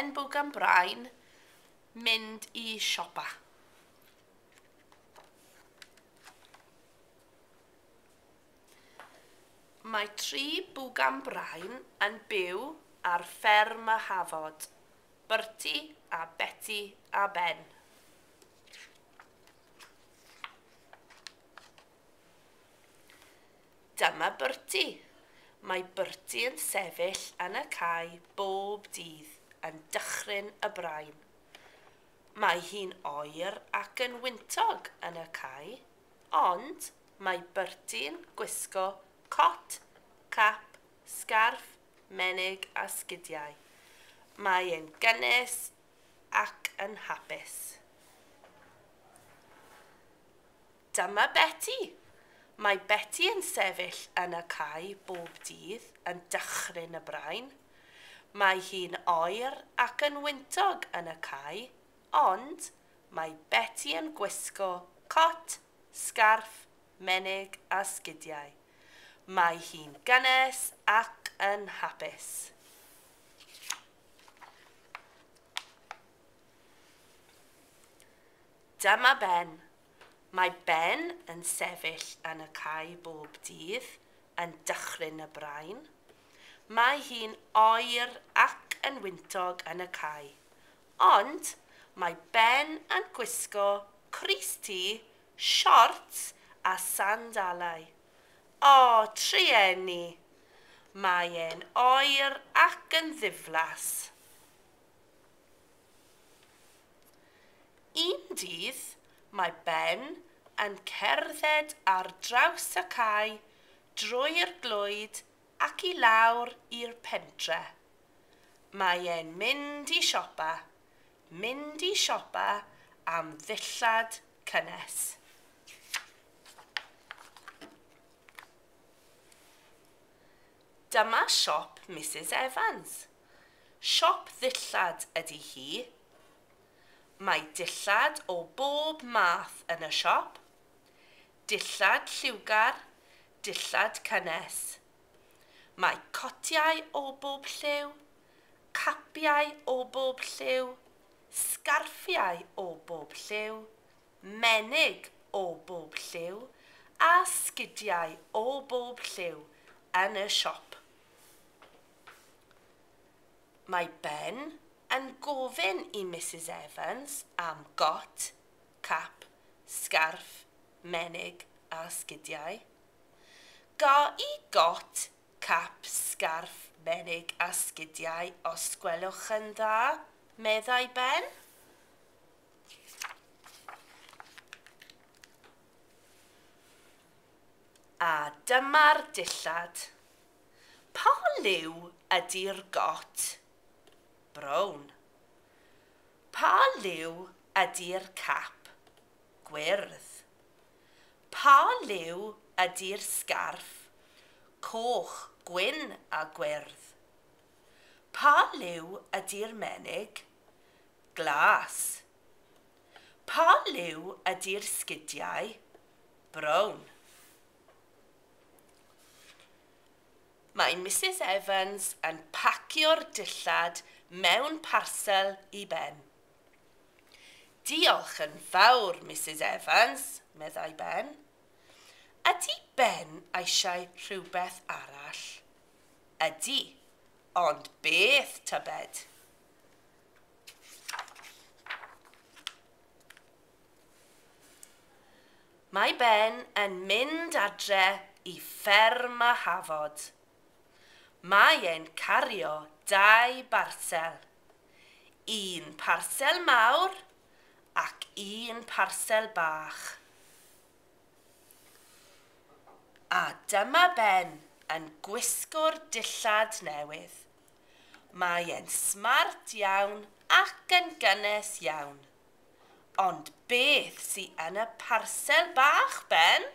Ben Bwgan Brain mynd i siopa. Mae tri bwgan brain yn byw ar fferm y Hafod, Bertie a Betty a Ben. Dyma Bertie. Mae Bertie yn sefyll yn y cae bob dydd yn dychryn y brain. Mae hi'n oer ac yn wyntog yn y cae, ond mae Bertie'n gwisgo cot, cap, sgarff, menig a sgidiau. Mae e'n gynnes ac yn hapus. Dyma Betty. Mae Betty yn sefyll yn y cae bob dydd yn dychryn y brain. Mae hi'n oer ac yn wyntog yn y cae, ond mae Betty yn gwisgo cot, sgarff, menig a sgidiau. Mae hi'n gynnes ac yn hapus. Dyma Ben. Mae Ben yn sefyll yn y cae bob dydd yn dychryn y brain. Mae hi'n oer ac yn wyntog yn y cae. Ond mae Ben yn gwisgo crys-T, siorts a sandalau. O, trueni! Mae e'n oer ac yn ddiflas. Un dydd, mae Ben yn cerdded ar draws y cae drwy'r glwyd ac i lawr i'r pentre. Mae e'n mynd i siopa, mynd i siopa am ddillad cynnes. Dyma siop Mrs Evans. Siop ddillad ydy hi. Mae dillad o bob math yn y siop. Dillad lliwgar, dillad cynnes. Mae cotiau o bob lliw, capiau o bob lliw, sgarffiau o bob lliw, menig o bob lliw a sgidiau o bob lliw yn y siop. Mae Ben yn gofyn i Mrs Evans am got, cap, sgarff, menig a sgidiau. Ga i got, cap, sgarff, menig a sgidiau os gwelwch yn dda, meddai Ben. A dyma'r dillad. Pa liw ydy'r got? Brown. Pa liw ydy'r cap? Gwyrdd. Pa liw ydy'r sgarff? Coch, gwyn a gwyrdd. Pa liw ydy'r menig? Glas. Pa liw ydy'r sgidiau? Brown. Mae Mrs Evans yn pacio'r dillad mewn parsel i Ben. Diolch yn fawr, Mrs Evans, meddai Ben. Ydy Ben eisiau rhywbeth arall? Ydy, ond beth tybed? Mae Ben yn mynd adre i fferm y Hafod. Mae e'n cario dau barsel. Un parsel mawr ac un parsel bach. A dyma Ben yn gwisgo'r dillad newydd. Mae e'n smart iawn ac yn gynnes iawn. Ond beth sy yn y parsel bach, Ben?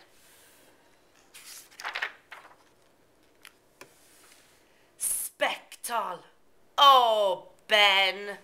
Sbectol! O, Ben!